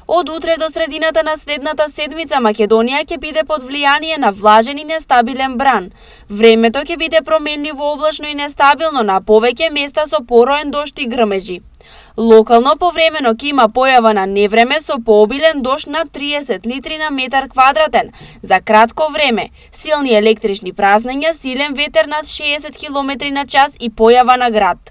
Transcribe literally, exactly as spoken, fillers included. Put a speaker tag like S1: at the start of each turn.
S1: Од утре до средината на следната седмица Македонија ќе биде под влијание на влажен и нестабилен бран. Времето ќе биде променливо облачно и нестабилно на повеќе места со пороен дожд и грмежи. Локално повремено ќе има појава на невреме со пообилен дожд над триесет литри на метар квадратен за кратко време, силни електрични празнења, силен ветер над шеесет километри на час и појава на град.